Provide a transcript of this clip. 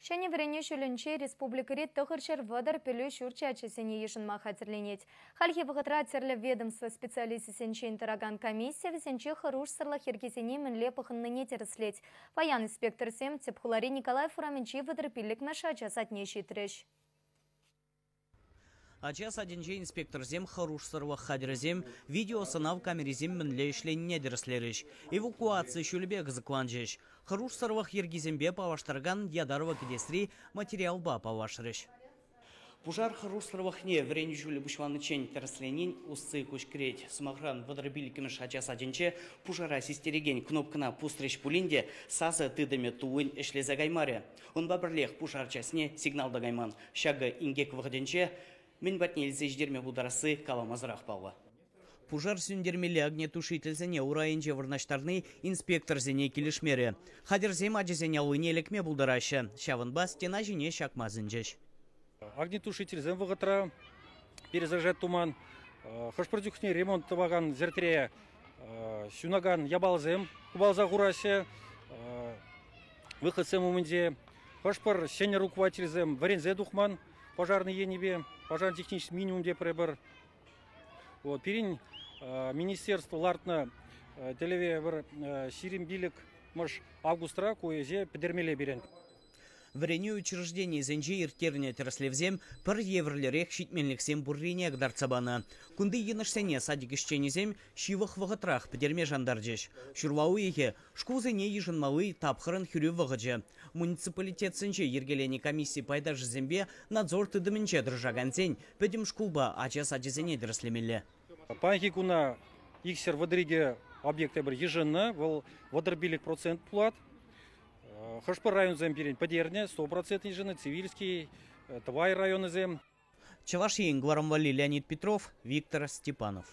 Ҫӗнӗ вӗренӳ ҫулӗнче республикӑри 930 пӗлӳ ҫурчӗ ачасене йышӑнма хатӗрленет. Хальхи вӑхӑтра тӗрлӗ ведомство специалисчӗсенчен тӑракан комисси вӗсенче хӑрушсӑрлӑх йӗркисене мӗнле пӑхӑннине тӗрӗслет. Паян инспекторсем тӗп хулари Николаев урамӗнчи 35-мӗш ача садне ҫитрӗҫ. Ача садӗнче инспекторсем хӑрушсӑрлӑх хатӗрӗсем, видеосӑнав камерисем мӗнле ӗҫленине тӗрӗслерӗҫ. Эвакуаци ҫулӗпе кӑсӑкланчӗҫ. Хӑрушсӑрлӑх йӗркисемпе паллаштаракан ятарлӑ кӗтесри материалпа паллашрӗҫ. Пушар хӑрушсӑрлӑхне вӗренӳ ҫулӗ пуҫланиччен тӗрӗсленин усси куҫкӗрет. Сӑмахран, 35-мӗш ача садӗнче пушара систерекен кнопкӑна пусрӗҫ пулин те сасӑ тытӑмӗ туллин ӗҫлесе каймарӗ. Унпа пӗрлех пушар часне сигнал та кайман. Ҫакӑ инкек вӑхӑтӗнче мӗн патне илсе ҫитерме пултарасси каламасӑрах паллӑ. Пушар сӳнтермелли огнетушительсене урайӗнче вырнаҫтарни инспекторсене килӗшмерӗ. Хатӗрсем ачасен аллине лекме пултараҫҫӗ. Ҫавӑнпа стена ҫине ҫакма сӗнчӗҫ. Огнетушительсем вӑхӑтра перезаряжать туман. Хӑш-пӗр чухне ремонт тӑвакан ҫӗртре ҫунакан япаласем купаласа хураҫҫӗ. Выходсем умӗнче хӑш-пӗр ҫӗнӗ руководительсем вӗренсе тухман пожарный енӗпе, пожарный технический минимум тепре. Вот, пирӗн министерство лартнӑ тӗллеве пӗр 25 августра ку ӗҫе пӗтермелле пирӗн. Вӗренӳ учрежденийӗсенче ирттернӗ тӗрӗслевсем пӗр евӗрлӗрех ҫитменлӗхсем пуррине кӑтартса панӑ. Кунти йӑнӑшсене садик ӗҫченӗсем ҫывӑх вӑхӑтрах пӗтерме шантарчӗҫ. Ҫурла уйӑхӗ шкулсене йышӑнмалли тапхӑрӑн хӗрӳ вӑхӑчӗ. Муниципалитетсенче йӗркеленӗ комисси пайташӗсемпе надзор тытӑмӗнче тӑрӑшакансен пӗтӗм шкулпа ача сачӗсене тӗрӗслемелле. Паянхи куна 232 объект эпир йышӑннӑ, вӑл 35% пулать. Хӑш-пӗр районсем пирӗн пӗтернӗ, 100% йышӑннӑ, Цивильский, Тӑвай районӗсем. Чӑваш Ен кӑларӑм валли Леонид Петров, Виктор Степанов.